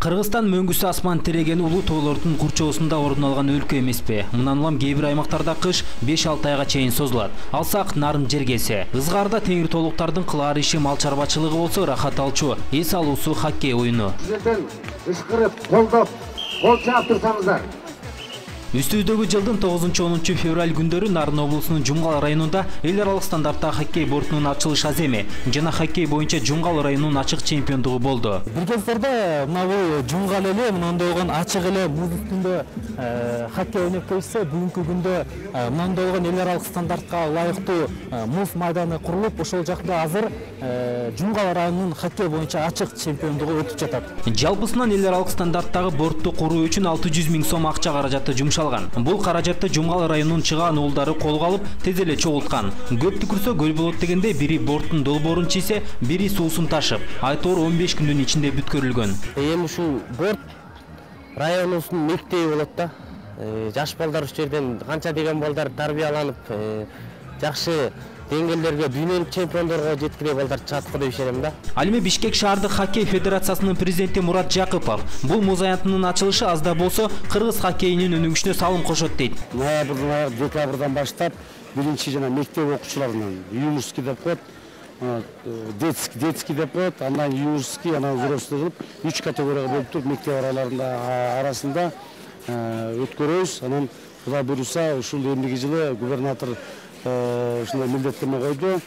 Кыргызстан мөңгүсү асман тиреген улуу тоолордун курчоосунда орун алган өлкө эмеспи. Мындан улам кээ бир аймактарда кыш 5-6 айга чейин созулат. Алсак Нарын Жергеси. Ызгаарда теңир тоолуктардын кылаар иши мал чарбачылыгы болсо, рахат алчу эс алуусу хоккей оюну. Сиздерден ышкырып, колдоп, кол чаап турсаңыздар. Үстүбүздөгү жылдын 9-10 февраль күндөрү Нарын облусунун Жумгал районунда эл аралык стандарттагы хоккей бортунун ачылыш аземи жана хоккей боюнча Жумгал районунун ачык чемпиондугу болду. Бир кездерде мына Жумгал эле мындай болгон ачык эле муз үстүндө хоккей ойноп келсе, бүгүнкү күндө мындай болгон эл аралык стандартка ылайыктуу муз майданы курулуп, ошол жакта азыр Жумгал районунун хоккей боюнча ачык чемпиондугу өтүп жатат. Жалпысынан эл аралык стандарттагы бортту куруу үчүн 600 000 сом акча каражаты жумшалган. Бул каражатты Жумгал районунун чыгаан уулдары колго алып, тез эле чогулткан. Көп түкүрсө көл болот дегенде бири борттун долбоорун чийсе, бири суусун ташып, айтор 15 күндүн ичинде бүткөрүлгөн. Эми ушул борт районубуздун мектеби болот да. Жаш балдар ушул жерден канча деген балдар тарбияланып, жакшы деңгээлдерге дүйнөлүк чемпиондорго жеткире балдар чыгат го деп ишенем да. Ал эми Бишкек шаардык хоккей федерациясынын президенти Мурат Жакыпов бул муз аянтынын ачылышы азда болсо кыргыз хоккейинин өнүгүшүнө салым кошот дейт. Ноябрдан, декабрдан баштап биринчи жана мектеп окуучуларынан юношеский деп коет, детский деп коет, андан юношеский, анан взрослый кылып 3 категорияга бөлүп туруп мектеп арасында өткөрөбүз. Анан Кудай буйруса ушул эмдиги жылы губернатор ушундай милдеттеме койду.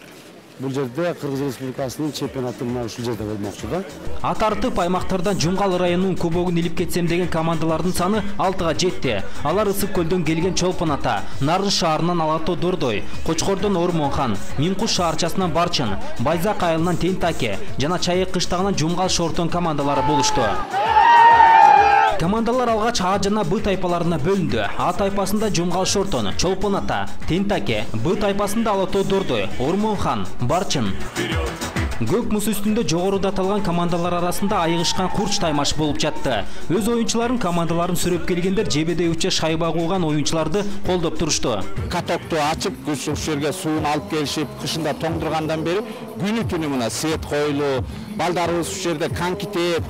Бул жерде Кыргыз Республикасынын чемпионаты мына ушул жерде болмокчу да. Ат артып аймактардан Жумгал районунун кубогун илип кетсем деген командалардын саны 6га жетти. Алар Ысык көлдөн келген Чолпон Ата, Нарын шаарынан Алато Дордой, Кочкордон Ормонхан, Минкуш шаарчасынан Барчын, Байзак айылынан Тентаке жана Чайык кыштагынан Жумгал Шортон командалары болушту. Командалар алгач А жана Б тайпаларына бөлүндү. А тайпасында Жумгал Шортон, Чолпон Ата, Тентаке, Б тайпасында Алато Дордой, Ормонхан, Барчын. Көк муз үстүндө жогоруда аталган командалар арасында айыгышкан курч таймаш болуп жатты. Өз оюнчуларын командаларын сүрөп келгендер жебедей уча шайба кууган оюнчуларды колдоп турушту. Катокту ачып, ушул жерге суун алып келишип, кышында тоңдургандан бери күнү түнү мына свет коюлуу, балдарыбыз ушул жерде коньки тээп,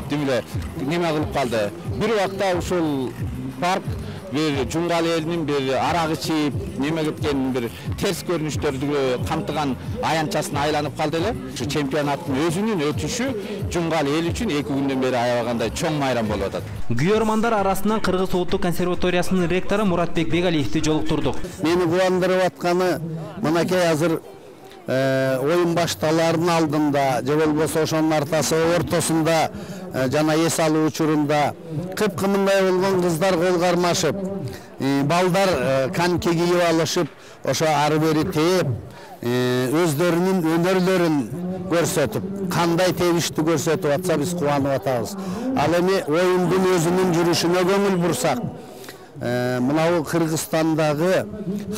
неме кылып калды. Бир убакта ушул парк бир Жумгал элинин бир арак ичип, неме кеткен бир терс көрүнүштөрдү камтыган аянтчасына айланып калды эле. Ушу чемпионаттын өзүнүн өтүшү Жумгал эл үчүн 2 күндөн бери аябагандай чоң майрам болуп атат. Күйөрмандар арасынан Кыргыз Улуттук консерваториясынын ректору Муратбек Бегалиевди жолуктурдук. Мени кубандырып атканы мынакей азыр оюн башталаардын алдында, же болбосо ошонун ортосунда жана эс алуу учурунда кыпкымындай болгон кыздар кол кармашып, балдар коньки кийип алышып, ошо ары бери тээп, өздөрүнүн өнөрлөрүн көрсөтүп, кандай тебиштүү көрсөтүп атса биз кубанып атабыз. Ал эми оюндун өзүнүн жүрүшүнө көңүл бурсак, мынау Кыргызстандагы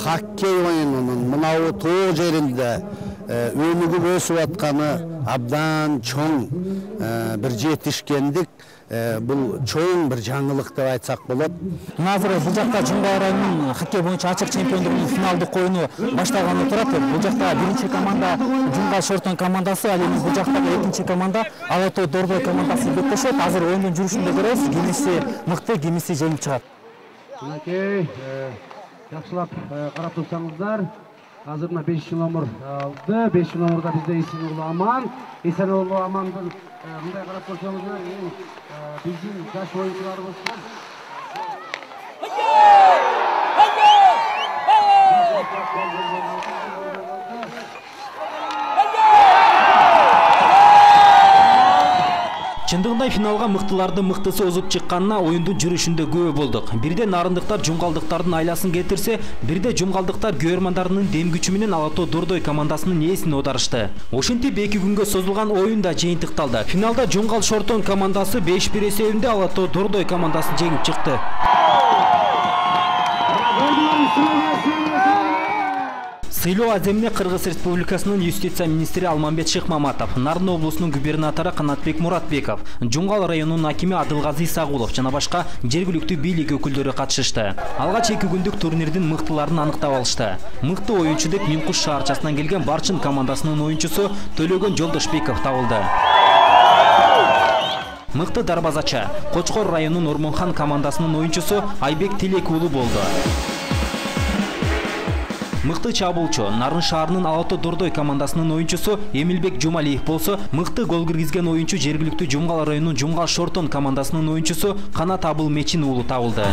хоккей оюнунун мынау тоо жеринде өнүгүп өсүп атканы абдан чоң бир жетишкендик, бул чоң бир жаңылык деп айтсак болот. Азыр бул жакта Жумгал районунун хоккей боюнча ачык чемпиондугунун финалдык оюну башталганы турат. Бул жакта биринчи команда Жумгал Шортон командасы, ал эми бул жактагы экинчи команда Алато Дордой командасы беттешет. Азыр оюндун жүрүшүндө көрөбүз, кимиси мыкты, кимиси жеңип чыгат. Мынакей, жакшылап карап турсаңыздар, азыр мына 5 номер алды. 5 номерда бизде Эсенуулу Аман. Эсенуулу Амандын мындай карап көрсөңүздөр, биздин жаш оюнчуларыбыз. Чындыгында финалга мыктылардын мыктысы озуп чыкканына оюндун жүрүшүндө күбө болдук. Бирде нарындыктар жумгалдыктардын айласын кетирсе, бирде жумгалдыктар күйөрмандарынын дем күчү менен Алато Дордой командасынын ээсин оодарышты. Ошентип 2 күнгө созулган оюн да жыйынтыкталды. Финалда Жумгал Шортон командасы 5-1 эсебинде Алато Дордой командасын жеңип чыкты. Сыйлоо аземине Кыргыз Республикасынын юстиция министри Алмамбет Шыкмаматов, Нарын облусунун губернатору Канатбек Муратбеков, Жумгал районунун акими Адылгазы Исагулов жана башка жергиликтүү бийлик өкүлдөрү катышышты. Алгач 2 күндүк турнирдин мыктыларын аныктап алышты. Мыкты оюнчу деп Минкуш шаарчасынан келген Барчын командасынын оюнчусу Төлөгөн Жолдошбеков табылды. Мыкты дарбазачы Кочкор районунун Ормонхан командасынын оюнчусу Айбек Тилек уулу болду. Мыкты чабуулчу Нарын шаарынын Алато Дордой командасынын оюнчусу Эмилбек Жумалиев болсо, мыкты гол киргизген оюнчу жергиликтүү Жумгал районунун Жумгал Шортон командасынын оюнчусу Канат Абыл Мечин уулу табылды.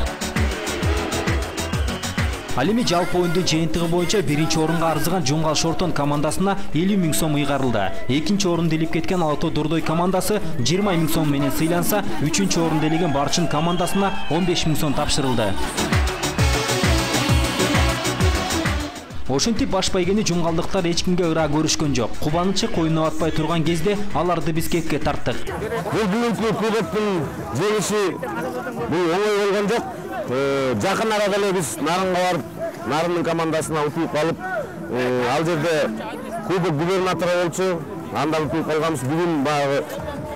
Ал эми жалпы оюндун жыйынтыгы боюнча биринчи орунга арзыган Жумгал Шортон командасына 50 000 сом ыйгарылды. Экинчи орунду илип кеткен Алато Дордой командасы 20 000 сом менен сыйланса, үчүнчү орунду илеген Барчын командасына 15 000 сом тапшырылды. Ошентип баш байгени жумгалдыктар эч кимге ыраа көрүшкөн жок. Кубанычы ойноп атпай турган кезде аларды Бишкекке тарттык. Бул бүгүнкү кубоктун жеңиши бул оңой болгон жок. Жакын арада эле биз Нарынга барып, Нарындын командасына утуп калып, ал жерде кубок губернатора болчу, анда утуп калганбыз. Бүгүн баягы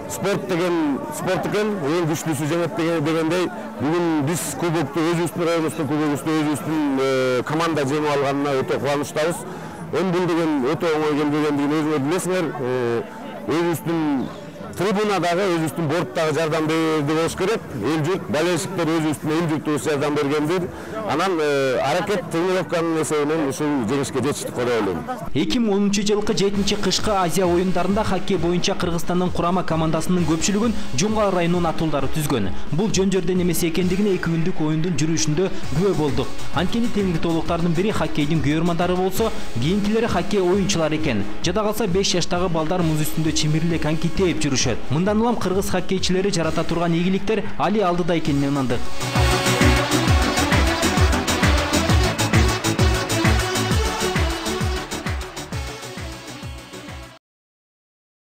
спорт экен, эң күчтүүсү жеңет дегендей, бүгүн биз кубокту өзүбүздүн районубуздун кубогубузду өзүбүздүн команда жеңип алганына өтө кубанычтабыз. Бул деген өтө оңой келбегендигин өзүңөр билесиңер. Өзүбүздүн трибунадагы, өзүбүздүн борттагы жардам берди болуш керек. Эл журт, болельщиктер өзүбүздүн эл журтубуз жардам бергендир. Анан аракет тренировканын эсебинен ушул жеңишке жетиштик деп ойлойм. 2010-жылкы 7-кышкы Азия оюндарында хоккей боюнча Кыргызстандын курама командасынын көпчүлүгүн Жумгал районунун атуулдары түзгөн. Бул жөн жөрдөн эмес экендигине 2 күндүк оюндун жүрүшүндө күбө болдук. Анткени теңиртоолуктардын бири хоккейдин күйөрмандары болсо, кийинкилери хоккей оюнчулары экен. Жада калса 5 жаштагы балдар муз үстүндө чимириле коньки тээп жүрүшөт. Мындан улам кыргыз хоккейчилери жарата турган ийгиликтер али алдыда экенине ынандык.